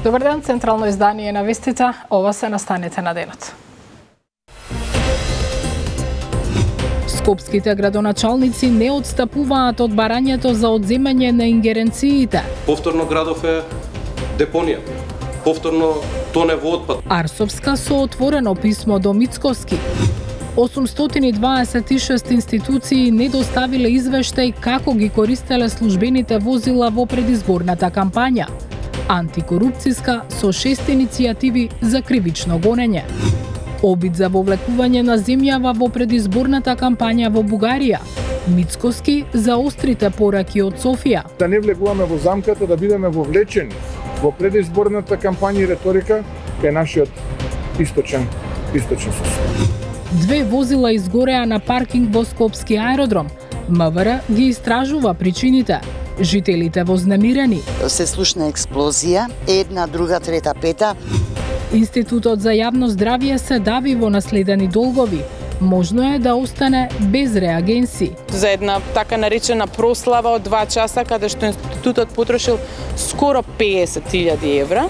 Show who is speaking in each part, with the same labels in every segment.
Speaker 1: Добар ден, централно издание на вестите, ова се настаните на денот. Скопските градоначалници не отстапуваат од барањето за одземање на ингеренциите.
Speaker 2: Повторно градов е депонија. Повторно тоне во отпад.
Speaker 1: Арсовска со отворено писмо до Мицкоски. 826 институции не доставиле извештај како ги користеле службените возила во предизборната кампања. Антикорупцијска со 6 иницијативи за кривично гонење. Обид за вовлекување на земјава во предизборната кампања во Бугарија. Мицкоски за острите пораки од Софија.
Speaker 3: Да не влегуваме во замката, да бидеме вовлечени во предизборната кампања и риторика кај нашиот источен состав.
Speaker 1: 2 возила изгореа на паркинг во Скопски аеродром. МВР ги истражува причините. Жителите вознемирени.
Speaker 4: Се слушна експлозија, една, друга, трета, пета.
Speaker 1: Институтот за јавно здравје се дави во наследени долгови. Можно е да остане без реагенси.
Speaker 5: За една така наречена прослава од 2 часа, каде што институтот потрошил скоро 50.000 евра.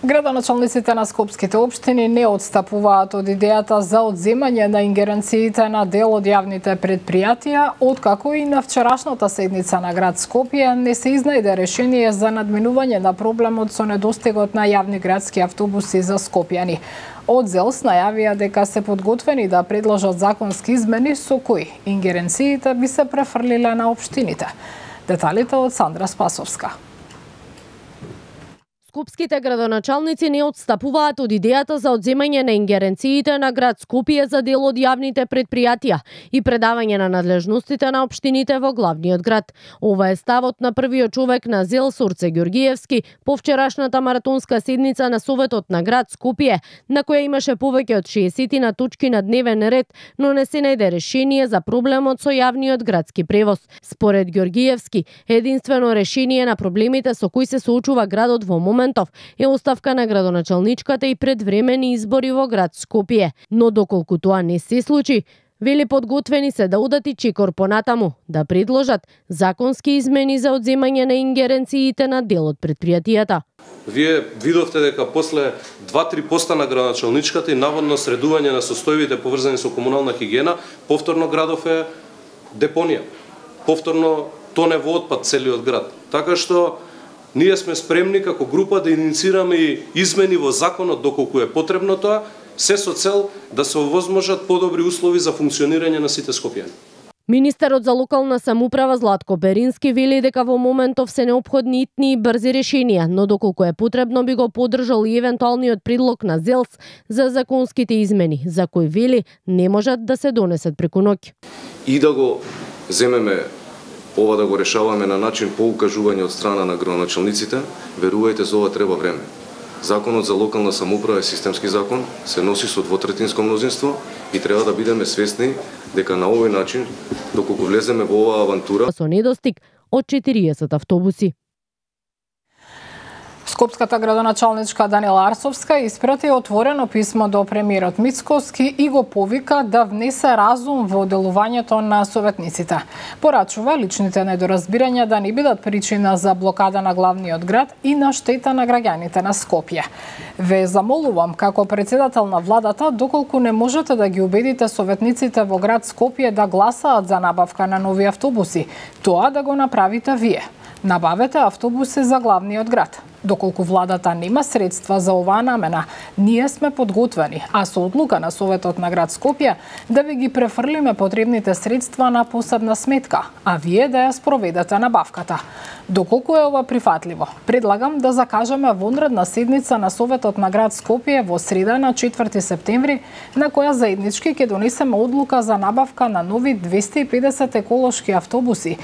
Speaker 1: Градоначалниците на скопските општини не отстапуваат од идејата за одземање на ингеренциите на дел од јавните предпријатија, откако и на вчерашната седница на град Скопје не се изнајде решение за надминување на проблемот со недостигот на јавни градски автобуси за скопјани. Од ЗЕЛС најавија дека се подготвени да предложат законски измени со кои ингеренциите би се префрлиле на општините. Деталите од Сандра Спасовска.
Speaker 6: Скопските градоначалници не отстапуваат од идејата за одземање на ингеренциите на град Скопје за дел од јавните предпријатија и предавање на надлежностите на општините во главниот град. Ова е ставот на првиот човек на ЗЕЛС Орце Ѓоргиевски по вчерашната маратонска седница на Советот на град Скопје, на која имаше повеќе од 60 на точки на дневен ред, но не се најде решение за проблемот со јавниот градски превоз. Според Ѓоргиевски, единствено решение на проблемите со кои се соочува градот во моментов е оставка на градоначалничката и предвремени избори во град Скопје. Но доколку тоа не се случи, вели подготвени се да удати чекор понатаму, да предложат законски измени за одземање на ингеренциите на дел од предпријатијата.
Speaker 2: Вие видовте дека после 2-3 поста на градоначалничката и наводно средување на состојбите поврзани со комунална хигиена, повторно градов е депонија. Повторно тоне во отпад целиот град. Така што ние сме спремни како група да инициираме и измени во законот доколку е потребно тоа, се со цел да се овозможат подобри услови за функционирање на сите скопјани.
Speaker 6: Министерот за локална самоуправа Златко Перински вели дека во моментов се неопходни итни и брзи решенија, но доколку е потребно би го поддржал и евентуалниот предлог на ЗЕЛС за законските измени, за кои вели не можат да се донесат преку ноќ.
Speaker 7: И да го земеме ова да го решаваме на начин по укажување од страна на градоначалниците, верувајте, за ова треба време. Законот за локална самоуправа е системски закон, се носи со двотретинско мнозинство и треба да бидеме свесни дека на овој начин, доколку влеземе во оваа авантура,
Speaker 6: со недостиг од 40 автобуси.
Speaker 1: Скопската градоначалничка Данила Арсовска испрати отворено писмо до премиерот Мицкоски и го повика да внесе разум во делувањето на советниците. Порачува личните недоразбирања да не бидат причина за блокада на главниот град и на штета на граѓаните на Скопје. Ве замолувам како председател на владата, доколку не можете да ги убедите советниците во град Скопје да гласаат за набавка на нови автобуси, тоа да го направите вие. Набавете автобуси за главниот град. Доколку владата нема средства за оваа намена, ние сме подготвени, а со одлука на Советот на град Скопје да ви ги префрлиме потребните средства на посебна сметка, а вие да ја спроведете набавката. Доколку е ова прифатливо, предлагам да закажеме вонредна седница на Советот на град Скопје во среда на 4 септември, на која заеднички ќе донесеме одлука за набавка на нови 250 еколошки автобуси.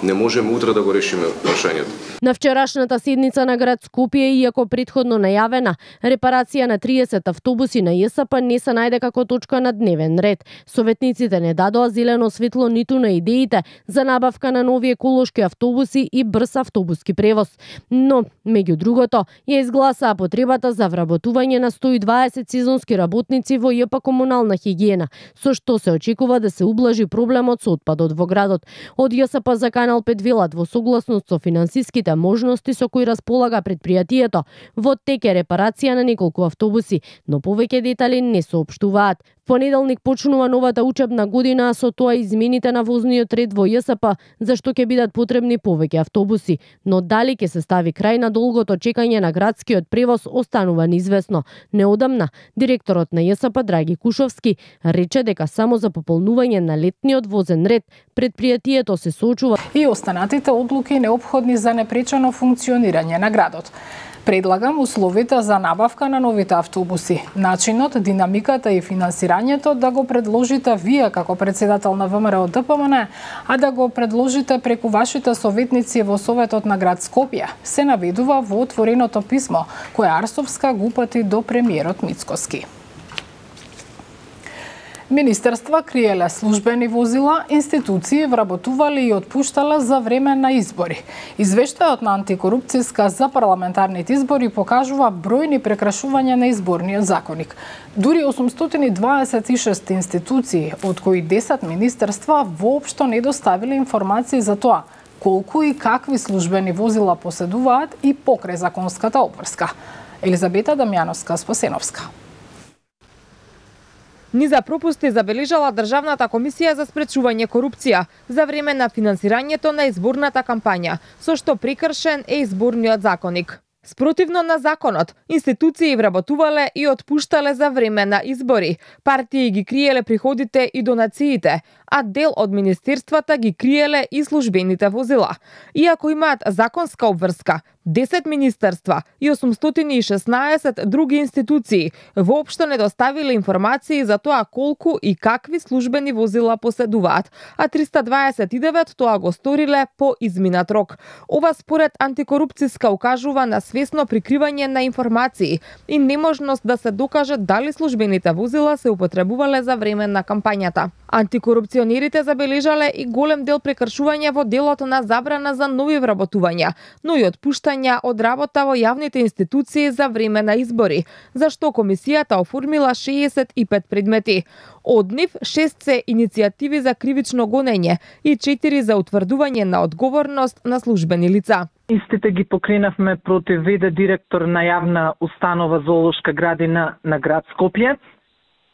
Speaker 7: Не можеме утре да го решиме прашањето.
Speaker 6: На вчерашната седница на град Скопје, иако претходно најавена, репарација на 30 автобуси на ЈСП не се најде како точка на дневен ред. Советниците не дадоа зелено светло ниту на идеите за набавка на нови еколошки автобуси и брз автобуски превоз. Но, меѓу другото, ја изгласаа потребата за вработување на 120 сезонски работници во ЈП комунална хигиена, со што се очекува да се ублажи проблемот со отпадот во градот. Од ЈСП закана Канал 5 велат во согласност со финансиските можности со кои располага предпријатието, во тек е репарација на неколку автобуси, но повеќе детали не соопштуваат. Понеделник почнува новата учебна година, со тоа измените на возниот ред во ЈСП, зашто ќе бидат потребни повеќе автобуси, но дали ќе се стави крај на долгото чекање на градскиот превоз останува неизвестно. Неодамна, директорот на ЈСП Драги Кушовски рече дека само за пополнување на летниот возен ред предпријатието се соочува
Speaker 1: и останатите одлуки неопходни за непречено функционирање на градот. Предлагам условите за набавка на новите автобуси, начинот, динамиката и финансирањето да го предложите вие како председател на ВМРО ДПМН, а да го предложите преку вашите советници во Советот на град Скопје, се наведува во отвореното писмо кое Арсовска го упати до премиерот Мицкоски. Министерства криеле службени возила, институции вработувале и отпуштале за време на избори. Извештајот на антикорупцијска за парламентарните избори покажува бројни прекрашувања на изборниот законник. Дури 826 институции, од кои 10 министерства воопшто не доставиле информации за тоа колку и какви службени возила поседуваат и покрај законската обврска. Елизабета Дамјановска-Спасеновска.
Speaker 8: Низа пропусти забележала Државната комисија за спречување корупција за време на финансирањето на изборната кампања, со што прекршен е изборниот законник. Спротивно на законот, институции вработувале и отпуштале за време на избори, партии ги криеле приходите и донациите, а дел од министерствата ги криеле и службените возила. Иако имаат законска обврска, 10 министерства и 816 други институции воопшто не доставиле информации за тоа колку и какви службени возила поседуваат, а 329 тоа го сториле по изминат рок. Ова според антикорупцијска укажува на свесно прикривање на информации и неможност да се докаже дали службените возила се употребувале за време на кампањата. Антикорупционерите забележале и голем дел прекршувања во делот на забрана за нови вработувања, но и отпуштања од работа во јавните институции за време на избори, за што комисијата оформила 65 предмети. Од нив 6 се иницијативи за кривично гонење и 4 за утврдување на одговорност на службени лица.
Speaker 9: Истите ги покренавме против ВД директор на јавна установа Зоолошка градина на град Скопје,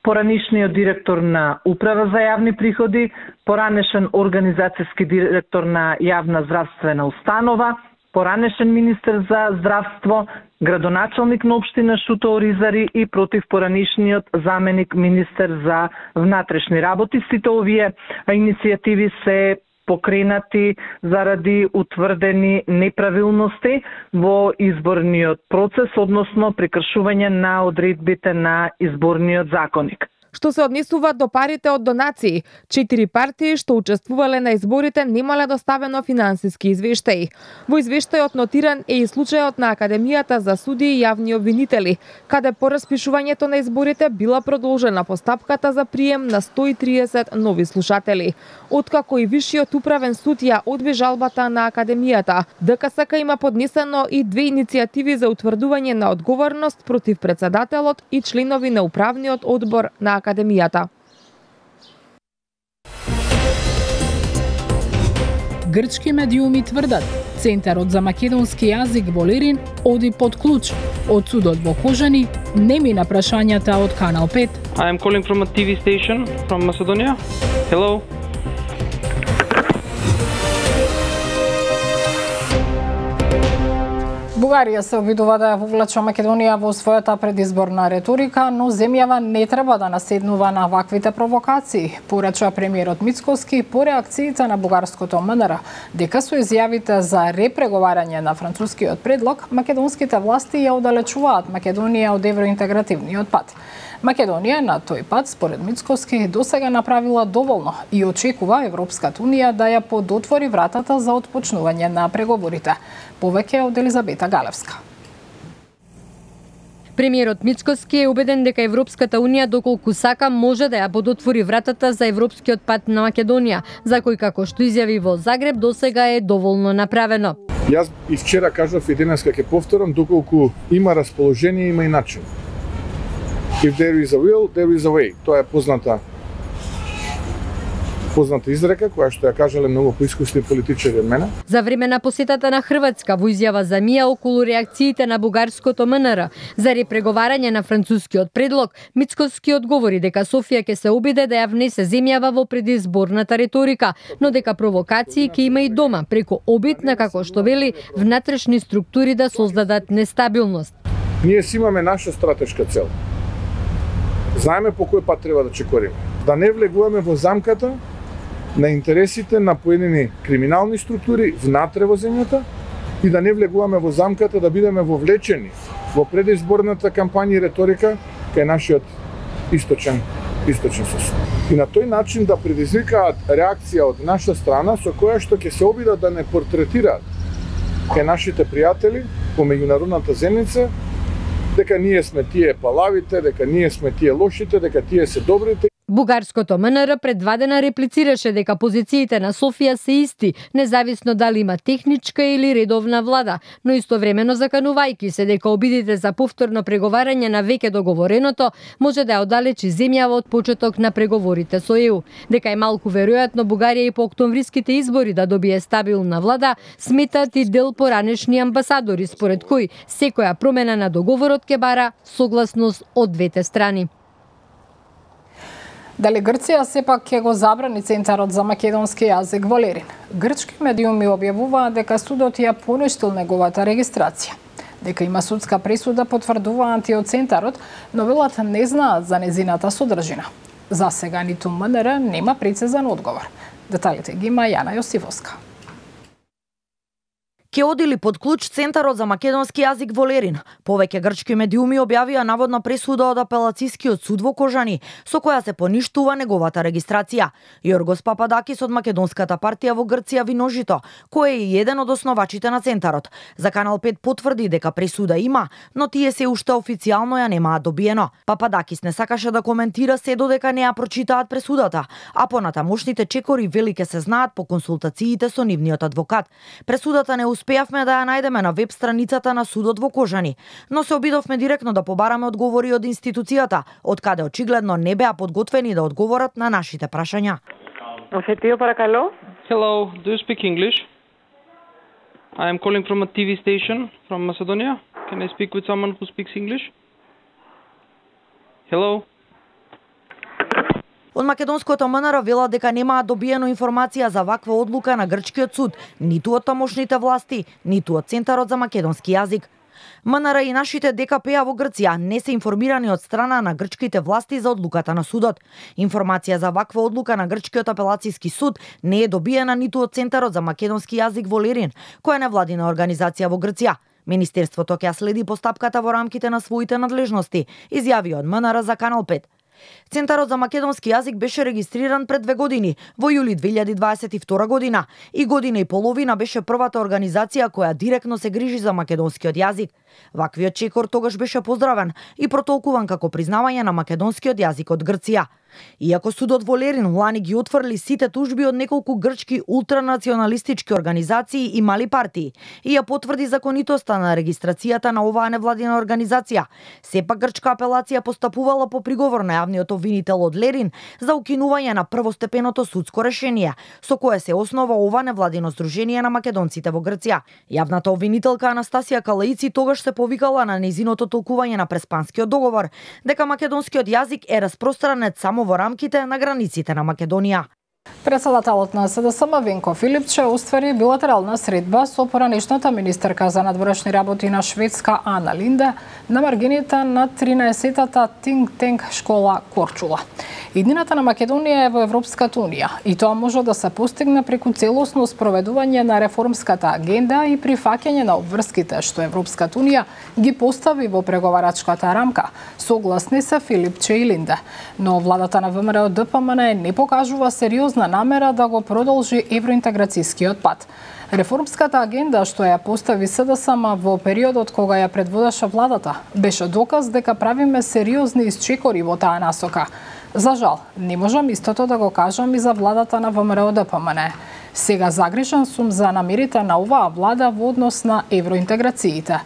Speaker 9: поранишниот директор на Управа за јавни приходи, поранешен организацијски директор на јавна здравствена установа, поранешен министер за здравство, градоначалник на општина Шуто Оризари и против поранишниот заменик министер за внатрешни работи. Сите овие иницијативи се покренати заради утврдени неправилности во изборниот процес, односно прекршување на одредбите на изборниот законник.
Speaker 8: Што се однесува до парите од донации, 4 партии што учествувале на изборите немале доставено финансиски извештаи. Во извештајот нотиран е и случајот на Академијата за суди и јавни обвинители, каде по распишувањето на изборите била продолжена постапката за прием на 130 нови слушатели. Откако и Вишиот управен суд ја одби жалбата на Академијата, ДКСК има поднесено и 2 иницијативи за утврдување на одговорност против председателот и членови на управниот одбор на Академијата.
Speaker 1: Грчки медиуми тврдат, Центарот за македонски јазик во Лерин оди под клуч. Од судот во Кожани не мина прашањата од Канал 5.
Speaker 10: I am calling from a TV station from Macedonia. Hello.
Speaker 1: Бугарија се обидува да ја вовлече Македонија во својата предизборна реторика, но земјава не треба да наседнува на ваквите провокации, порача премиерот Мицкоски по реакциите на бугарското МНР, дека со изјавите за репреговарање на францускиот предлог, македонските власти ја оддалечуваат Македонија од евроинтегративниот пат. Македонија на тој пат, според Мицкоски, досега направила доволно и очекува Европската унија да ја подотвори вратата за отпочнување на преговорите. Повеќе од Елизабета Галевска.
Speaker 11: Премиерот Мицкоски е убеден дека Европската унија доколку сака може да ја подотвори вратата за европскиот пат на Македонија, за кој како што изјави во Загреб досега е доволно направено.
Speaker 3: Јас и вчера кажав и денес ќе повторам, доколку има расположение, има и начин. If there is a will, there is a way. Тоа е позната позната изрека која што ја кажале многу поискусни политичари од мене.
Speaker 11: За време на посетата на Хрватска во изјава за МИА околу реакциите на бугарското МНР за репреговарање на францускиот предлог, Мицкоски одговори дека Софија ќе се обиде да ја внесе земјава во предизборната риторика, но дека провокации ќе има и дома преку обид на, како што вели, внатрешни структури да создадат нестабилност.
Speaker 3: Ние си имаме наша стратешка цел. Знаеме по кој пат треба да чекориме. Да не влегуваме во замката на интересите на поедини криминални структури внатре во земјата и да не влегуваме во замката да бидеме вовлечени во предизборната кампања и риторика кај нашиот источен сосед. И на тој начин да предизвикаат реакција од наша страна со која што ќе се обидат да не портретираат кај нашите пријатели по меѓународната земјица дека ние сме тие палавите, дека ние сме тие лошите, дека тие се добрите.
Speaker 11: Бугарското МНР пред 2 дена реплицираше дека позициите на Софија се исти, независно дали има техничка или редовна влада, но истовремено заканувајќи се дека обидите за повторно преговарање на веќе договореното може да ја оддалечи земјава од почеток на преговорите со ЕУ. Дека е малку веројатно Бугарија и по октомвриските избори да добие стабилна влада, сметаат и дел поранешни амбасадори, според кои секоја промена на договорот ќе бара согласност од двете страни.
Speaker 1: Дали Грција сепак ќе го забрани Центарот за македонски јазик во Лерин? Грчки медиуми објавуваат дека судот ја поништил неговата регистрација. Дека има судска пресуда потврдуваат и од Центарот, но велат не знаат за незината содржина. За сега ниту МНР нема прецизен одговор. Деталите ги има Јана Јосифовска.
Speaker 12: Ке одили под клуч Центарот за македонски јазик во Лерин. Повеќе грчки медиуми објавија наводна пресуда од апелацискиот суд во Кожани, со која се поништува неговата регистрација. Јоргос Пападакис од Македонската партија во Грција Виножито, кој е и еден од основачите на Центарот, за Канал 5 потврди дека пресуда има, но тие се уште официјално ја немаат добиено. Пападакис не сакаше да коментира се додека не ја прочитаат пресудата, а понатамошните чекори вели ке се знаат по консултациите со нивниот адвокат. Пресудата не успеавме да ја најдеме на веб страницата на судот во Кожани, но се обидовме директно да побараме одговори од институцијата, од каде очигледно не беа подготвени да одговорат на нашите прашања.
Speaker 10: Hello, do you speak English? I am calling from a TV station from Macedonia. Can I speak with someone who speaks English? Hello?
Speaker 12: Од македонското МНР велат дека немаат добиено информација за ваква одлука на грчкиот суд, ниту од тамошните власти, ниту од Центарот за македонски јазик. МНР и нашите ДКП-а во Грција не се информирани од страна на грчките власти за одлуката на судот. Информација за ваква одлука на грчкиот апелациски суд не е добиена ниту од Центарот за македонски јазик во Лерин, која е невладина организација во Грција. Министерството ќе следи постапката во рамките на своите надлежности, изјави од МНР за Канал 5. Центарот за македонски јазик беше регистриран пред 2 години, во јули 2022 година, и година и половина беше првата организација која директно се грижи за македонскиот јазик. Ваквиот чекор тогаш беше поздравен и протолкуван како признавање на македонскиот јазик од Грција. Иако судот во Лерин лани ги отфрли сите тужби од неколку грчки ултранационалистички организации и мали партии и ја потврди законитоста на регистрацијата на оваа невладина организација, сепак грчка апелација постапувала по приговор на јавниот обвинител од Лерин за укинување на првостепеното судско решение, со кое се основа ова невладино здружение на македонците во Грција. Јавната обвинителка Анастасија Калаици тогаш се повикала на нејзиното толкување на Преспанскиот договор, дека македонскиот јазик е распространет само во рамките на границите на Македонија.
Speaker 1: Председателот на СДСМ Венко Филипче оствари билатерална средба со поранешната министерка за надворешни работи на Шведска Ана Линде на маргините на 13-тата Think Tank школа Корчула. Иднината на Македонија е во Европската унија и тоа може да се постигне преку целосно спроведување на реформската агенда и прифаќање на обврските што Европската унија ги постави во преговарачката рамка, согласни се Филипче и Линде. Но владата на ВМРО ДПМН не покажува сериозна намера да го продолжи евроинтеграцијскиот пат. Реформската агенда што ја постави СДСМ во периодот кога ја предводеше владата беше доказ дека правиме сериозни исчекори во таа насока. За жал, не можам истото да го кажам и за владата на ВМРО ДПМН. Сега загрижен сум за намерите на оваа влада во однос на евроинтеграциите.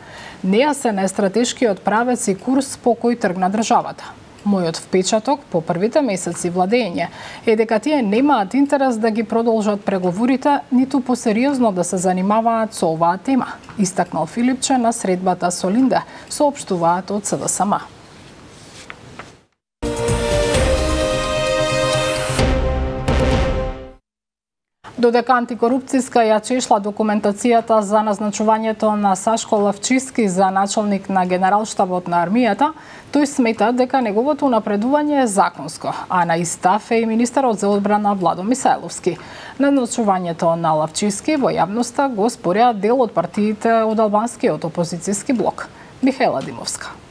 Speaker 1: Нејасен е стратешкиот правец и курс по кој тргна државата. Мојот впечаток по првите месеци владење е дека тие немаат интерес да ги продолжат преговорите, ниту посериозно да се занимаваат со оваа тема, истакнал Филипче на средбата со Линде, соопштуваат од СДСМ. Додека антикорупцијска ја чешла документацијата за назначувањето на Сашко Лавчиски за началник на Генералштабот на армијата, тој смета дека неговото напредување е законско, а на истав е и министерот за одбрана Владо Мисајловски. Назначувањето на Лавчиски во јавноста го спореа дел од партиите од албанскиот опозицијски блок. Михаела Димовска.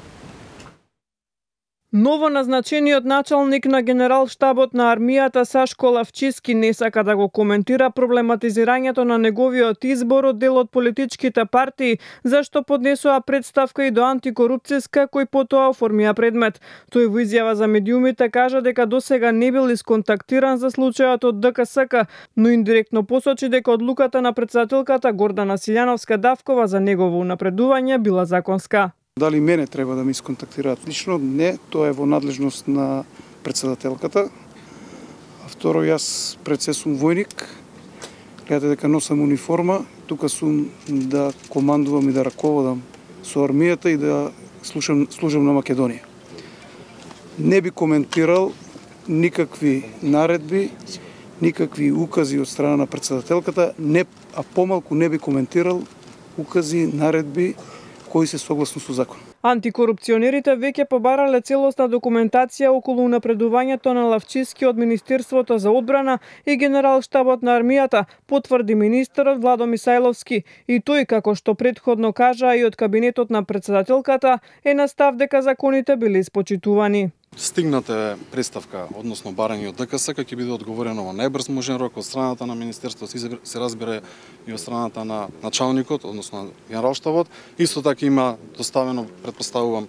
Speaker 13: Ново назначениот началник на Генералштабот на армијата Сашко Лавчиски не сака да го коментира проблематизирањето на неговиот избор од дел од политичките партии, зашто поднесоа представка и до антикорупцијска кој потоа оформија предмет. Тој во изјава за медиумите кажа дека досега не бил исконтактиран за случајот од ДКСК, но индиректно посочи дека одлуката на претседателката Гордана Силјановска-Давкова за негово напредување била законска.
Speaker 14: Дали мене треба да ме исконтактираат лично? Не, тоа е во надлежност на претседателката. А второ, јас пред се сум војник, гледате дека носам униформа, тука сум да командувам и да раководам со армијата и да служам на Македонија. Не би коментирал никакви наредби, никакви укази од страна на претседателката, а помалку не би коментирал укази, наредби кои се согласно со закон.
Speaker 13: Антикорупционерите веќе побарале целосна документација околу напредувањето на Лавчиски од Министерството за одбрана и Генералштабот на армијата, потврди министерот Владо Мисајловски, и тој, како што претходно кажа и од кабинетот на претседателката, е на став дека законите биле испочитувани.
Speaker 15: Стигната е представка, односно барање од ДКСК, ќе биде одговорено во најбрз можен рок од страната на Министерството, се разбира и од страната на началникот, односно Генералштабот. Исто така има доставено, предпоставувам,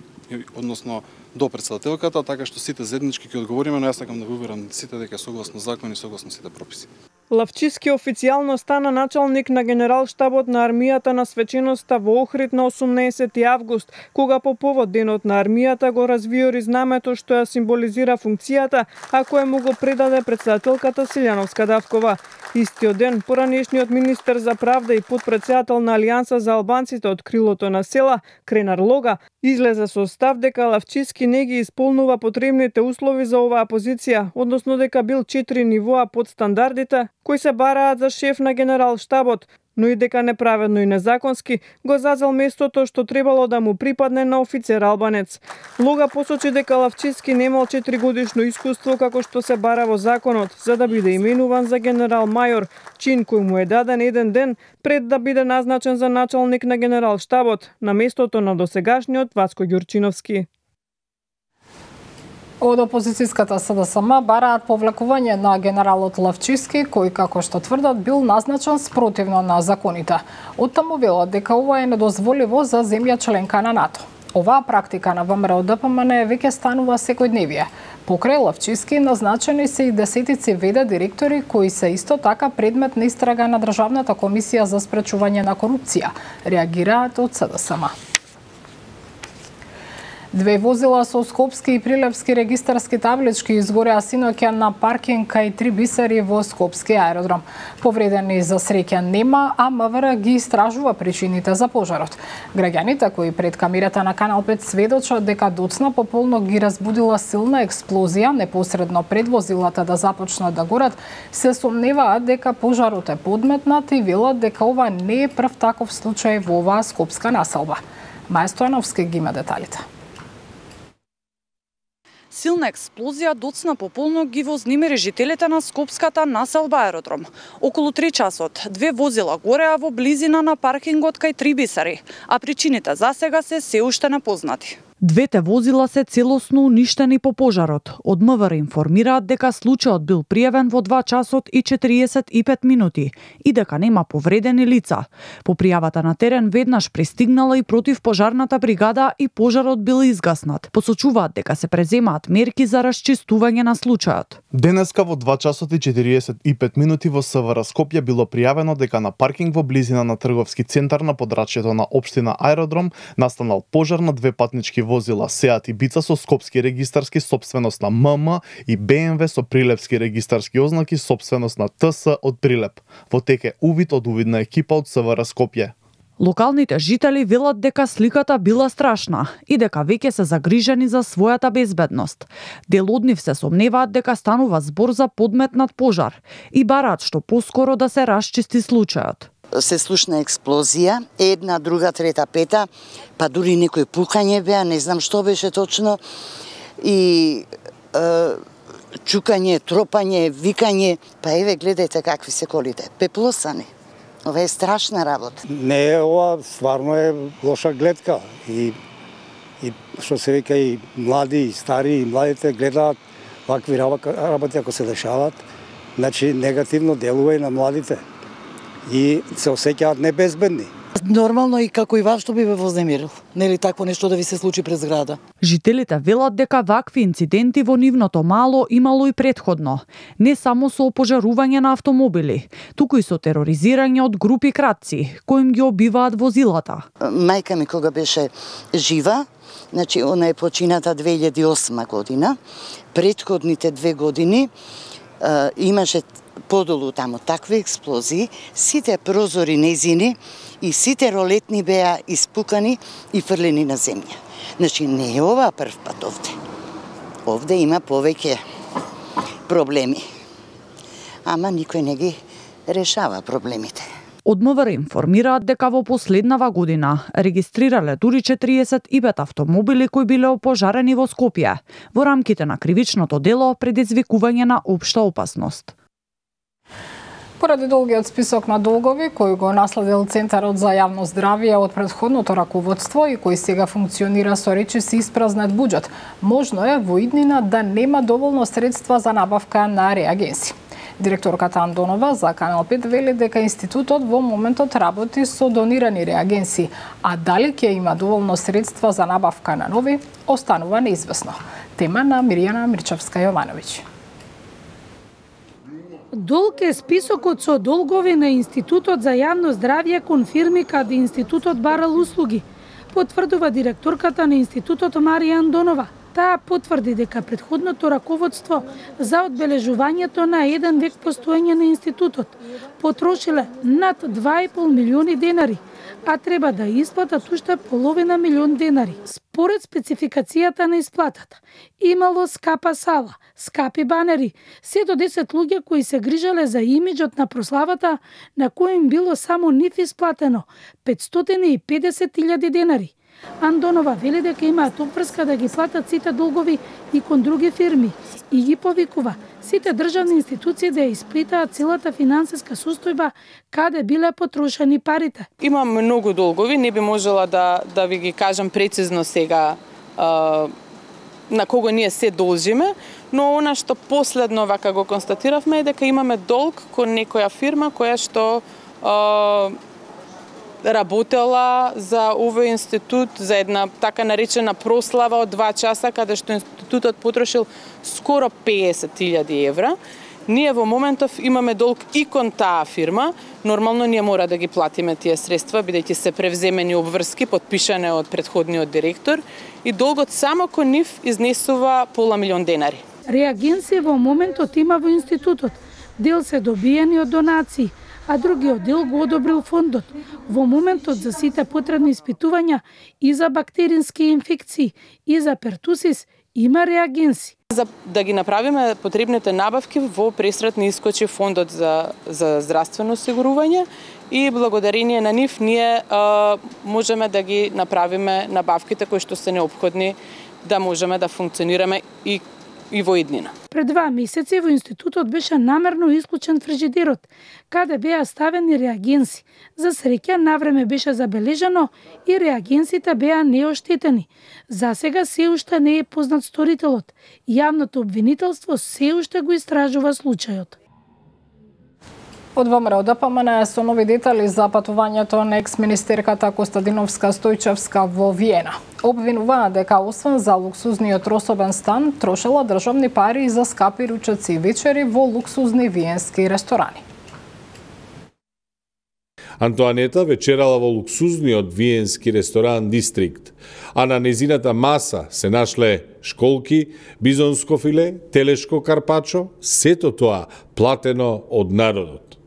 Speaker 15: односно до претседателката, така што сите заеднички ќе одговориме, но јас сакам да го уверам сите дека согласно закон и согласно сите прописи.
Speaker 13: Лавчиски официјално стана началник на Генералштабот на армијата на свеченоста во Охрид на 18 август, кога по повод денот на армијата го развиори знамето што ја символизира функцијата, а кое му го предаде претседателката Силјановска-Давкова. Истиот ден, поранешниот министер за правда и подпредседател на Алијанса за албанците од крилото на села, Кренар Лога, излезе со став дека Лавчиски не ги исполнува потребните услови за оваа позиција, односно дека бил 4 нивоа под стандардите кои се бараат за шеф на Генералштабот, но и дека неправедно и незаконски го зазел местото што требало да му припадне на офицер албанец. Лога посочи дека Лавчиски немал 4-годишно искуство како што се бара во законот за да биде именуван за генерал-мајор, чин кој му е даден еден ден пред да биде назначен за началник на Генералштабот на местото на досегашниот Васко Ѓурчиновски.
Speaker 1: Од опозицијската СДСМ бараат повлекување на генералот Лавчиски, кој, како што тврдат, бил назначен спротивно на законите. Оттаму велат дека ова е недозволиво за земја членка на НАТО. Оваа практика на ВМРО-ДПМН веќе станува секојдневие. Покрај Лавчиски назначени се и десетици ВД директори кои се исто така предмет на истрага на Државната комисија за спречување на корупција, реагираат од СДСМ. Две возила со скопски и прилепски регистарски таблички изгореа синоќа на паркинг кај 3 бисери во скопски аеродром. Повредени за среќа нема, а МВР ги истражува причините за пожарот. Граѓаните кои пред камерата на Канал 5 сведочат дека доцна пополно ги разбудила силна експлозија непосредно пред возилата да започнат да горат, се сомневаат дека пожарот е подметнат и велат дека ова не е прв таков случај во оваа скопска населба. Маја Стојановски ги има деталите.
Speaker 16: Силна експлозија доцна пополно ги вознемири жителите на скопската населба аеродром. Околу 3 часот, две возила гореа во близина на паркингот кај 3 бисери, а причините засега се уште непознати.
Speaker 17: Двете возила се целосно уништени по пожарот. Од МВР информираат дека случајот бил пријавен во 2 часот и 45 минути и дека нема повредени лица. По пријавата на терен веднаш пристигнала и противпожарната бригада и пожарот бил изгаснат. Посочуваат дека се преземаат мерки за расчистување на случајот.
Speaker 18: Денеска во 2 часот и 45 минути во СВР Скопје било пријавено дека на паркинг во близина на трговски центар на подрачјето на општина Аеродром настанал пожар на две патнички возила Seat Ibiza со скопски регистарски собственост на ММ и BMW со прилепски регистарски ознаки собственост на ТС од Прилеп. Во тек е увид од увидна екипа од СВР Скопје.
Speaker 17: Локалните жители велат дека сликата била страшна и дека веќе се загрижени за својата безбедност. Дел од нив се сомневаат дека станува збор за подметнат пожар и бараат што поскоро да се расчисти случајот.
Speaker 4: Се слушна експлозија, една, друга, трета, пета, па дури некој пукање беа, не знам што беше точно, и чукање, тропање, викање, па еве гледајте какви се колите, пеплосани. Ова е страшна работа.
Speaker 19: Не, ова стварно е лоша гледка и што се вика и млади и стари и младите гледаат вакви работи ако се дешават, значи негативно делува и на младите и се осеќаат небезбедни.
Speaker 20: Нормално и како и вас што би ве вознемирил. Нели такво нешто да ви се случи пред зграда?
Speaker 17: Жителите велат дека вакви инциденти во нивното мало имало и предходно. Не само со опожарување на автомобили, туку и со тероризирање од групи кратци, кои им ги обиваат возилата.
Speaker 4: Мајка ми кога беше жива, значи она е почината 2008 година, предходните 2 години имаше подолу таму такви експлозии, сите прозори незини и сите ролетни беа испукани и фрлени на земја. Значи не е ова прв пат овде. Овде има повеќе проблеми. Ама никој не ги решава проблемите.
Speaker 17: Од МВР информираат дека во последнава година регистрирале дури 45 автомобили кои биле опожарени во Скопје во рамките на кривичното дело предизвикување на општа опасност.
Speaker 1: Поради долгиот список на долгови кој го наследил Центарот за јавно здравје од претходното раководство и кој сега функционира со речиси испразнет буџет, можно е во иднина да нема доволно средства за набавка на реагенси. Директорката Андонова за Канал 5 вели дека институтот во моментот работи со донирани реагенси, а дали ќе има доволно средства за набавка на нови, останува неизвестно. Тема на Мирјана Мирчевска-Јовановиќ.
Speaker 21: Долг е списокот со долгови на Институтот за јавно здравје кон фирми каде институтот барал услуги, потврдува директорката на институтот Марија Андонова. Таа потврди дека претходното раководство за одбележувањето на 1 век постоење на институтот потрошиле над 2,5 милиони денари, а треба да исплатат уште половина милион денари. Според спецификацијата на исплатата, имало скапа сала, скапи банери, се до 10 луѓе кои се грижале за имиџот на прославата, на кој им било само нив исплатено 550.000 денари. Андонова вели дека имаат обврска да ги платат сите долгови и кон други фирми и ги повикува сите државни институции да ја исплатаат целата финансиска состојба каде биле потрошени парите.
Speaker 5: Има многу долгови, не би можела да ви ги кажам прецизно сега на кого ние се должиме, но она што последно вака го констатиравме е дека имаме долг кон некоја фирма која што работела за овој институт за една така наречена прослава од 2 часа, каде што институтот потрошил скоро 50.000 евра. Ние во моментов имаме долг и кон таа фирма. Нормално ние мора да ги платиме тие средства, бидејќи се превземени обврски, подпишане од претходниот директор, и долгот само кон нив изнесува пола милион денари.
Speaker 21: Реагенси во моментот има во институтот. Дел се добиени од донации, а другиот дел го одобрил фондот. Во моментот за сите потребни испитувања и за бактерински инфекции и за пертусис има реагенси.
Speaker 5: За да ги направиме потребните набавки, во пресрет ни искочи фондот за здравствено осигурување и благодарение на нив ние можеме да ги направиме набавките кои што се неопходни да можеме да функционираме и во иднина.
Speaker 21: Пред 2 месеци во институтот беше намерно исклучен фрижидерот, каде беа ставени реагенси. За среќа навреме беше забележано и реагенсите беа неоштетени. За сега се уште не е познат сторителот. Јавното обвинителство се уште го истражува случајот.
Speaker 1: Од ВМРО ДПМН со нови детали за патувањето на екс-министерката Костадиновска Стојчевска во Виена. Обвинуваа дека освен за луксузниот особен стан, трошела државни пари и за скапи ручеци и вечери во луксузни виенски ресторани.
Speaker 2: Антоанета вечерала во луксузниот виенски ресторан Дистрикт, а на незината маса се нашле школки, бизонско филе, телешко карпачо, сето тоа платено од народот.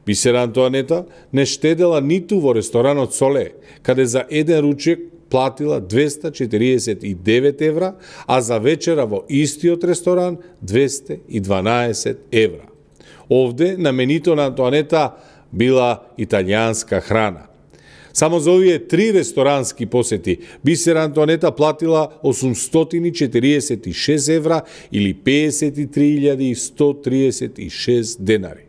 Speaker 2: Бисера Антоанета не штедела ниту во ресторанот Соле, каде за еден ручек платила 249 евра, а за вечера во истиот ресторан 212 евра. Овде на менито на Антоанета била италијанска храна. Само за овие 3 ресторански посети Бисера Антоанета платила 846 евра или 53.136 денари.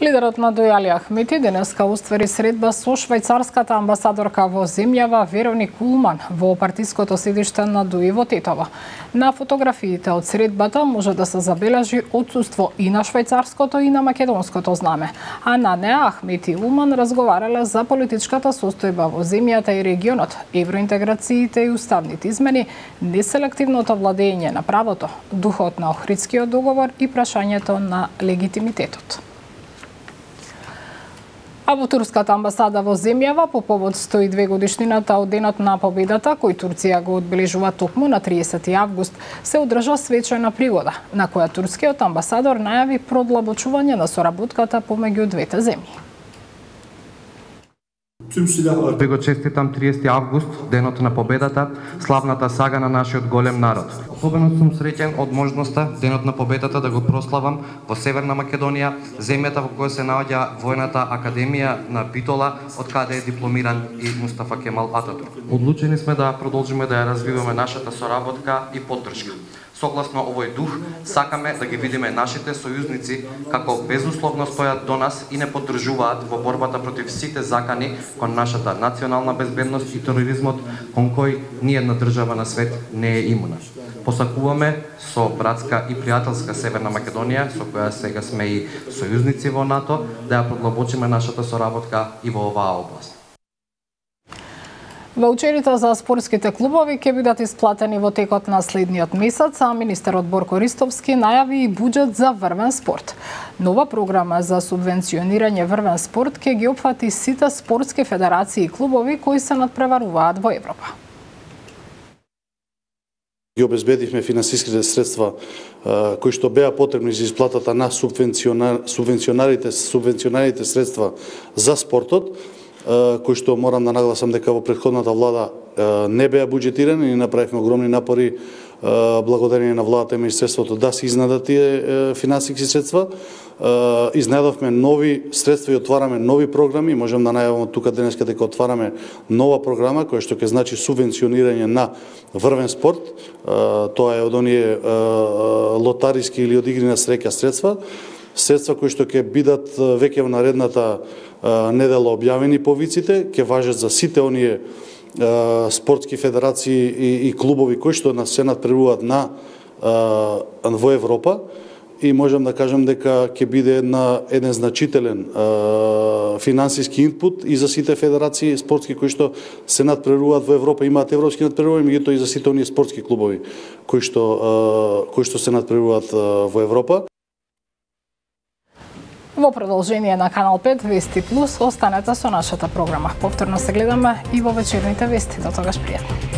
Speaker 1: Лидерот на Дојали Ахмети денеска уствари средба со швајцарската амбасадорка во земјава Вероник Улман во партиското седиште на ДУИ во Тетово. На фотографиите од средбата може да се забележи отсуство и на швајцарското и на македонското знаме, а на неа Ахмети и Улман разговарале за политичката состојба во земјата и регионот, евроинтеграциите и уставните измени, неселективното владење на правото, духот на Охридскиот договор и прашањето на легитимитетот. А во турската амбасада во земјава по повод 102 годишнината од денот на победата, кој Турција го одбележува токму на 30 август, се одржа свечена пригода, на која турскиот амбасадор најави продлабочување на соработката помеѓу двете земји.
Speaker 22: Ви го честитам 30 август, денот на победата, славната сага на нашиот голем народ. Особено сум среќен од можноста денот на победата да го прославам во Северна Македонија, земјата во која се наоѓа војната академија на Битола, од каде е дипломиран и Мустафа Кемал Ататурк. Одлучени сме да продолжиме да ја развиваме нашата соработка и поддршка. Согласно овој дух, сакаме да ги видиме нашите сојузници како безусловно стојат до нас и не поддржуваат во борбата против сите закани кон нашата национална безбедност и тероризмот, кон кој ниедна држава на свет не е имуна. Посакуваме со братска и пријателска Северна Македонија, со која сега сме и сојузници во НАТО, да ја продлабочиме нашата соработка и во оваа област.
Speaker 1: Ваучерите за спортските клубови ќе бидат исплатени во текот на следниот месец, а министерот Борко Ристовски најави и буџет за врвен спорт. Нова програма за субвенционирање врвен спорт ќе ги опфати сите спортски федерации и клубови кои се надпреваруваат во Европа.
Speaker 23: Ги обезбедивме финансиските средства кои што беа потребни за исплатата на субвенционираните средства за спортот, кои што морам да нагласам дека во претходната влада не беа буџетирани и направивме огромни напори благодарение на владата и министерството да се изнадат тие финансиски средства. Изнедовме нови средства и отвараме нови програми. Можам да најавам тука денеска дека отвараме нова програма која што ќе значи субвенционирање на врвен спорт. Тоа е од оние лотариски или од игри на среќа средства кои што ќе бидат веќе во наредната недела објавени по виците, ќе важат за сите оние спортски федерации и клубови кои што се надпреваруваат во Европа, и можам да кажам дека ќе биде еден значителен финансиски инпут и за сите федерации спортски кои што се надпреваруваат во Европа, имаат европски надпреварувања, меѓутоа и за сите оние спортски клубови кои што се надпреваруваат во Европа.
Speaker 1: Во продолжение на Канал 5 Вести Плюс, останете со нашата програма. Повторно се гледаме и во вечерните вести. До тогаш пријатно.